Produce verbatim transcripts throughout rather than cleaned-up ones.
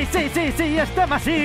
sí, sí, sí, sí, estem així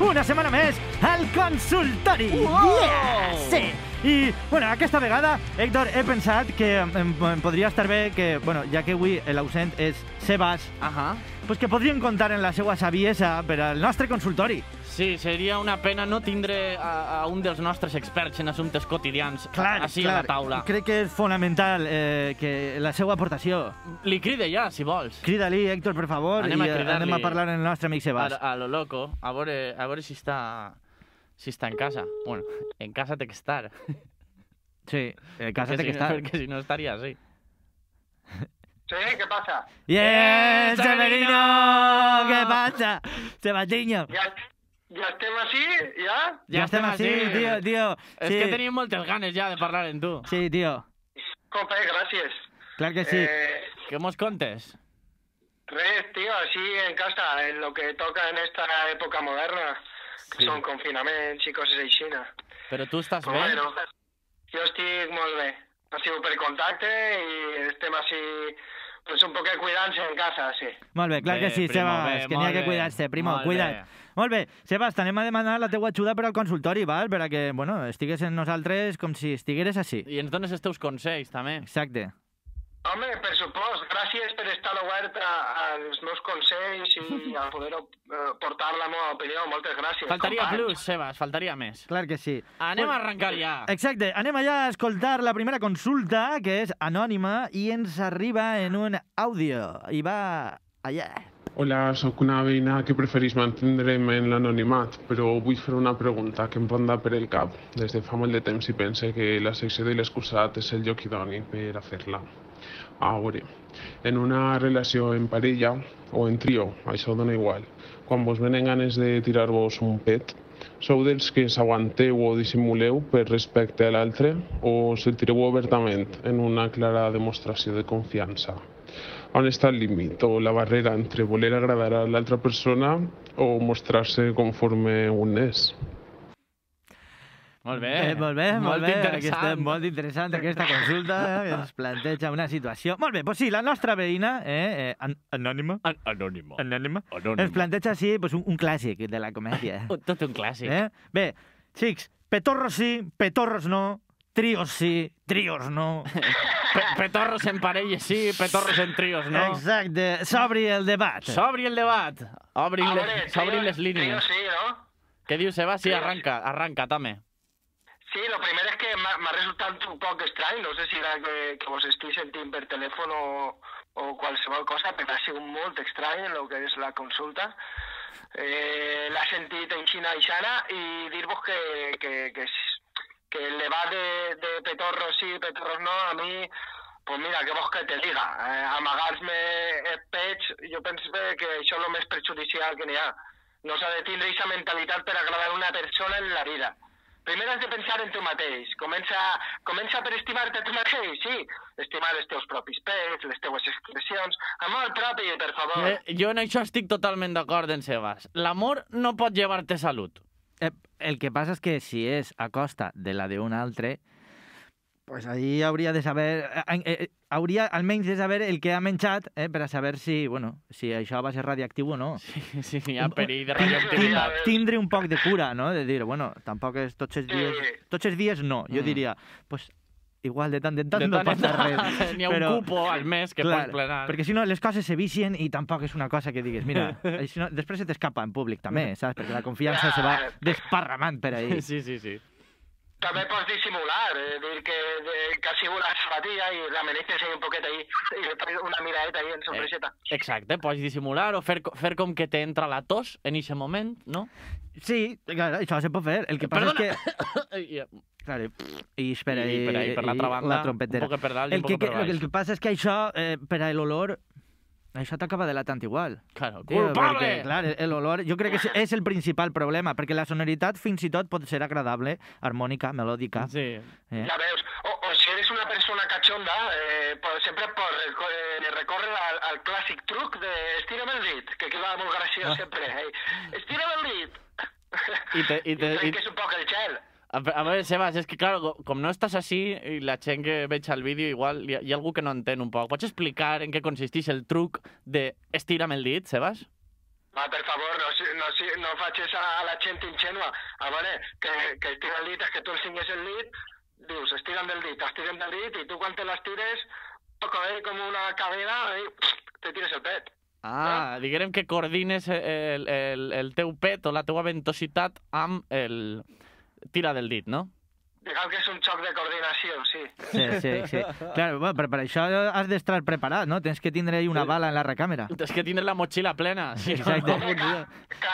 una setmana més al consultori. Wow! Yeah, sí. I, bueno, aquesta vegada, Héctor, he pensat que em, em podria estar bé que, bueno, ja que avui l'ausent és Sebas, Ahà. pues que podríem contar en la seva saviesa per al nostre consultori. Sí, seria una pena no tindre a, a un dels nostres experts en assumptes quotidians Clar, així clar. a la taula. Crec que és fonamental eh, que la seva aportació. Li cride ja, si vols. Crida-li, Héctor, per favor, Anem a i eh, cridar-li. anem a parlar amb el nostre amic Sebas. A, a lo loco, a veure, a veure si està, si està en casa. Bueno, en casa té que estar. Sí, en casa té Perquè que si estar. No, perquè si no estaria així. Sí, què passa? ¡Bien, ¡Bien, Severino! Severino! ¿Qué pasa? Sebastiño. Ja, ja estem així, ja? Ja estem així, tio, tio. És Sí. que tenim moltes ganes ja de parlar amb tu. Sí, tio. Compa, gràcies. Clar que sí. Eh, Què mos contes? res, tío, així en casa, en lo que toca en esta època moderna, que Sí. són confinaments i coses així. Però tu estàs Però bé? bueno, jo estic molt bé. Ha sigut per contacte i estem així, pues un poquet cuidant-se en casa, sí. Molt bé, clar Bé, que sí, primo, Sebas, bé, que n'hi ha molt que bé, cuidar-se, primo, molt cuida't. bé. Molt bé, Sebas, t'anem a demanar la teua ajuda per al consultori, val? Per a que, bueno, estigues en nosaltres com si estigueres així. I ens dones els teus consells, també. Exacte. Home, per supost, gràcies per estar obert a- als meus consells i a poder eh, portar la meva opinió. Moltes gràcies. Faltaria companys. plus, Sebas, faltaria més. Clar que sí. Anem Bueno, a arrencar ja. Exacte, anem allà a escoltar la primera consulta, que és anònima, i ens arriba en un àudio. I va allà. Hola, sóc una veïna que preferís mantindre'm en l'anonimat, però vull fer una pregunta que em ronda per el cap. Des de fa molt de temps i pense que la secció de l'excusat és el lloc idoni per a fer-la. A veure, en una relació en parella o en trio, això dona igual, quan vos venen ganes de tirar-vos un pet, sou dels que s'aguanteu o dissimuleu per respecte a l'altre o se'l tireu obertament en una clara demostració de confiança? On està el límit o la barrera entre voler agradar a l'altra persona o mostrar-se conforme un és? Molt bé. Eh, molt bé, molt, bé. Aquesta, interessant. molt interessant aquesta consulta, eh, que ens planteja una situació. Molt bé, doncs sí, la nostra veïna, eh, eh, an anònima, An Anònimo. anònima, Anònimo. ens planteja així pues, un, un clàssic de la comèdia. Un- Tot un clàssic. Eh? Bé, xics, petorros sí, petorros no, trios sí, trios no. Pe petorros en parelles sí, petorros en trios, no? Exacte, s'obri el debat. S'obri el debat. Obrin, A le veure, s'obrin trio- les línies. trio sí, no? Què dius, Sebas? Sí, Trio. arranca, arranca, també. Sí, lo primer és que m'ha m'ha resultat un poc estrany, no sé si era que, que vos estic sentint per telèfon o, o qualsevol cosa, però ha sigut molt estrany en el que és la consulta. Eh, L'ha sentit en Xina i Xana i dir-vos que, que, que, s- que el debat de, de petorros sí, petorros no, a mi, pues mira, què vols que te diga? Eh, Amagar-me els pets, jo penso que això és el més perjudicial que n'hi ha. No s'ha de tindre aquesta mentalitat per agradar una persona en la vida. Primer has de pensar en tu mateix. Comença, comença per estimar-te a tu mateix, sí. Estimar els teus propis pets, les teues expressions. Amor propi, per favor. Eh, jo en això estic totalment d'acord en Sebas. L'amor no pot llevar-te salut. Eh, el que passa és que si és a costa de la d'un altre, pues ahí hauria de saber, eh, eh, hauria almenys de saber el que ha menjat, eh, per a saber si, bueno, si això va ser radioactiu o no. Sí, sí, hi ha perill de Tin- tin- radioactivitat. Tindre un poc de cura, no? De dir, bueno, tampoc és tots els dies... Sí. Tots els dies no. Jo Mm. diria, pues, igual de tant en tant De no tant en passa tant, res. n'hi ha un Però- cupo al mes que Clar, pots plenar. perquè si no les coses se vicien i tampoc és una cosa que digues, mira, si no, després se t'escapa en públic també, saps? Perquè la confiança se va desparramant per ahí. Sí, sí, sí. També pots dissimular, eh, dir que, de, que ha sigut la sabatilla i l'ameneces ahí un poquet ahí i després una miradeta ahí en sorpreseta. Exacte, pots dissimular o fer, co- fer com que t'entra la tos en aquest moment, no? Sí, clar, això se pot fer. El que passa Perdona. és que... I, Clar, i espera, I per ahí, per l'altra i banda, la trompetera. un poc per dalt i El un que, poc per que, baix. el que passa és que això, eh, per a l'olor, això t'acaba delatant igual. Claro, Tio, culpable! Perquè, clar, l'olor, jo crec que és, és el principal problema, perquè la sonoritat fins i tot pot ser agradable, harmònica, melòdica. Sí. Eh? Ja veus, o, o si eres una persona cachonda, eh, pues sempre pot reco eh, recórrer al, al clàssic truc de estira'm el dit, que queda molt graciós sempre. Eh? Estira'm el dit! I te- i te- I i- trenques un poc el gel. A, a veure, Sebas, és que, clar, com no estàs així, i la gent que veig al vídeo, igual hi ha, hi ha algú que no entén un poc. Pots explicar en què consisteix el truc de estira'm el dit, Sebas? Va, per favor, no, si- no, si- no facis a, a la gent ingenua. A veure, que, que estira el dit, és que tu ensenyes el dit, dius, estiren del dit, estiren del dit, i tu quan te l'estires, toca eh, com una cadena, i te tires el pet. Ah, diguem que coordines el, el, el teu pet o la teua ventositat amb el tira del dit, no? Diguem que és un xoc de coordinació, sí. Sí, sí, sí. Claro, bueno, però per això has d'estar preparat, no? Tens que tindre ahí una bala en la recàmera. És que tindre la motxilla plena. Si no, Exacte. no funciona.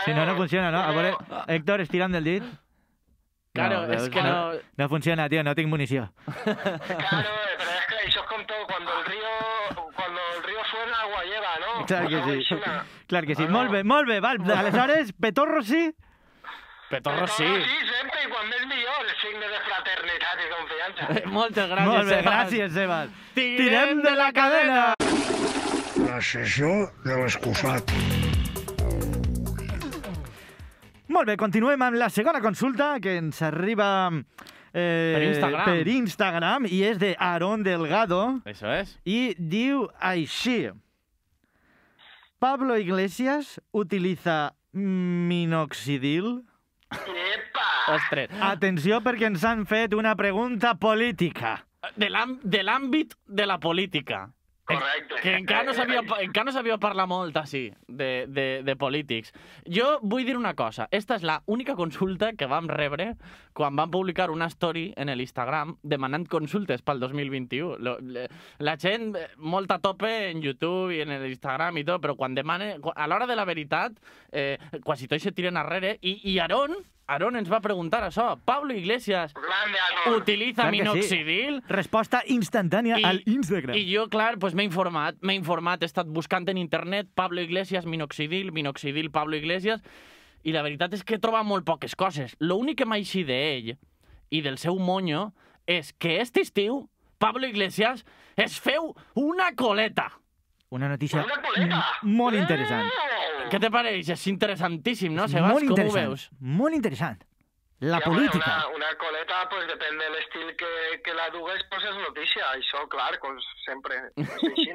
Si no, no funciona, no? A veure, Héctor, estira'm del dit. Claro, No, és veus, que no... No funciona, tío, no tinc munició. Claro, eh, pero es que eso es como todo, cuando el río, cuando el río suena, agua lleva, ¿no? Clar que Agua sí. eixina. Clar que sí. Ah, no. Molt bé, molt bé. Val, aleshores, petorro sí? Petorro Pero sí. sí, sempre, i quan més millor, és signe de fraternitat i confiança. Moltes gràcies, Molt bé, Sebas. gràcies, Sebas. Tirem de la cadena! La sessió de l'excusat. Molt bé, continuem amb la segona consulta que ens arriba eh, Per Instagram. per Instagram i és de Aaron Delgado Eso es. i diu així. Pablo Iglesias utiliza minoxidil? Epa! Ostres. Atenció perquè ens han fet una pregunta política. De l'àm- de l'àmbit de la política. Correcte. Que encara no sabia, encara no sabia parlar molt, així, de, de, de polítics. Jo vull dir una cosa. Esta és la única consulta que vam rebre quan vam publicar una story en l'Instagram demanant consultes pel dos mil vint-i-u. Lo- le- La gent, eh, molt a tope en YouTube i en l'Instagram i tot, però quan demane... A l'hora de la veritat, eh, quasi tots se tiren arrere. I, i Aaron, Aaron ens va preguntar això. Pablo Iglesias Grande, Aaron. utiliza Clar que sí. minoxidil? Resposta instantània I- al Instagram. I jo, clar, pues, m'he informat, m'he informat, he estat buscant en internet Pablo Iglesias, minoxidil, minoxidil, Pablo Iglesias, i la veritat és que he trobat molt poques coses. L'únic que m'ha eixit d'ell i del seu monyo és que este estiu Pablo Iglesias es feu una coleta. Una notícia Una coleta. m- molt interessant. Oh! Què te pareix? És interessantíssim, no, Sebas? Molt Com ho interessant. veus? Molt interessant. La Ja, bueno, política. Una, una coleta, pues depèn de l'estil que, que la dugues, pues és notícia. Això, clar, com sempre, és així.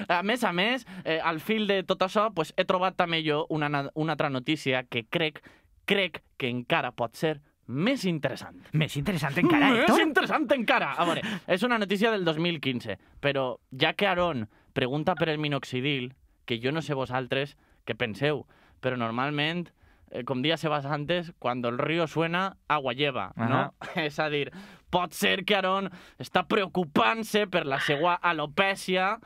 A més a més, eh, al fil de tot això, pues, he trobat també jo una, na- una altra notícia que crec, crec que encara pot ser més interessant. Més interessant encara, Més Héctor. interessant encara! A veure, és una notícia del dos mil quinze, però ja que Aaron pregunta per el minoxidil, que jo no sé vosaltres què penseu, però normalment, eh, com dia Sebas antes, cuando el río suena, agua lleva, no? És a dir, pot ser que Aaron està preocupant-se per la seva alopècia,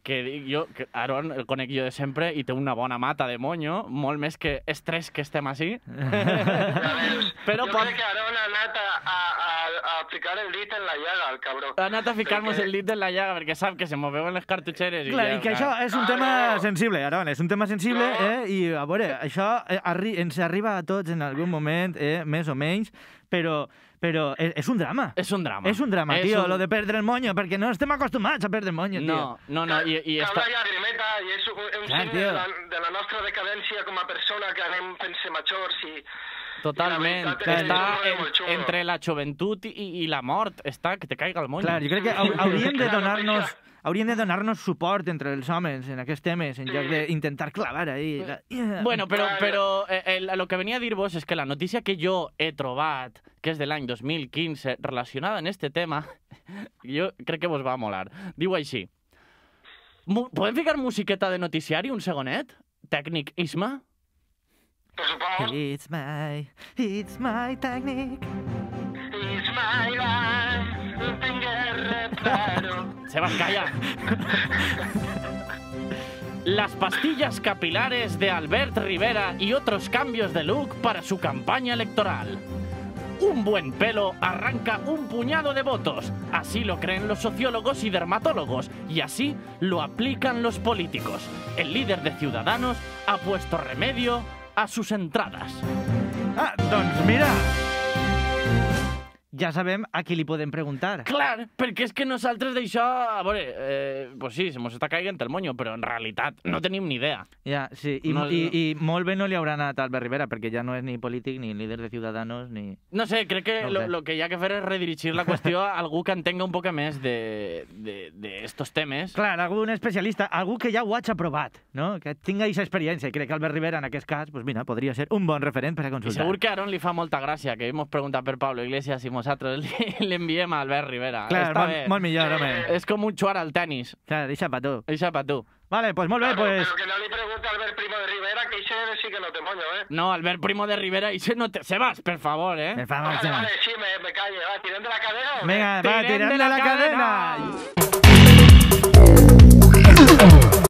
que dic jo, que Aaron el conec jo de sempre i té una bona mata de monyo, molt més que estrès que estem així. Ja veus, Però jo pot- crec que Aaron ha anat a, a, a, a aplicar el dit en la llaga, el cabró. Ha anat a ficar-nos Perquè- el dit en la llaga perquè sap que se m'ho veuen les cartutxeres. I Clar, ja, i que clar. això és un Ah, tema no. sensible, Aaron, és un tema sensible, No. eh? I, a veure, això eh, arri ens arriba a tots en algun moment, eh? Més o menys, però, però és, és un drama. És un drama. És un drama, És tio, un- lo de perdre el monyo, perquè no estem acostumats a perdre el monyo, tio. No, no, no, i, i Cal està... una llagrimeta i és un, un Clar, signe tio. de la, de la nostra decadència com a persona que anem fent-se majors i... Totalment. I la veritat és Està que és en, molt xulo. entre la joventut i, i la mort. Està que te caiga el moll. Clar, jo crec que hau- hauríem de Clar, donar-nos això. hauríem de donar-nos suport entre els homes en aquests temes, en Sí. lloc d'intentar clavar ahí. La... Bueno, però, Clar. però eh, el, el que venia a dir-vos és que la notícia que jo he trobat, que és de l'any dos mil quinze, relacionada en este tema, jo crec que vos va molar. Diu així. Mu- Podem ficar musiqueta de noticiari un segonet? Tècnic Isma? Per supost, It's my, it's my technique. it's my life, no tingues reparo. Sebas, calla. Las pastillas capilares de Albert Rivera y otros cambios de look para su campaña electoral. Un buen pelo arranca un puñado de votos. Así lo creen los sociólogos y dermatólogos. Y así lo aplican los políticos. El líder de Ciudadanos ha puesto remedio a sus entradas. Ah, doncs mira, ja sabem a qui li podem preguntar. Clar, perquè és que nosaltres d'això, a veure, eh, pues sí, se mos està caigant el monyo, però en realitat no tenim ni idea. Ja, sí, i, No, i, no. i molt bé no li haurà anat a Albert Rivera, perquè ja no és ni polític, ni líder de Ciudadanos, ni... No sé, crec que No ho lo, sé. lo que hi ha que fer és redirigir la qüestió a algú que entenga un poc més de, de, de estos temes. Clar, algun especialista, algú que ja ho hagi aprovat, no? Que tinga aquesta experiència. I crec que Albert Rivera, en aquest cas, pues mira, podria ser un bon referent per a I consultar. segur que a Aaron li fa molta gràcia que hemos preguntat per Pablo Iglesias i nosaltres li, li enviem a Albert Rivera. Clar, Està molt, bé. molt millor, home. És com un jugar al tenis. Clar, deixa pa tu. Eixa pa tu. Vale, pues molt bé, Claro, pues... Pero que no le pregunte a Albert Primo de Rivera, que ese sí que no te moño, ¿eh? No, Albert Primo de Rivera, i se no te... Sebas, per favor, eh? Per favor, Vale, Sebas. vale, sí, me, me callo. Va, ¿tiren de la cadena o qué? Venga, va, Tirem tirem de de la la cadena. cadena.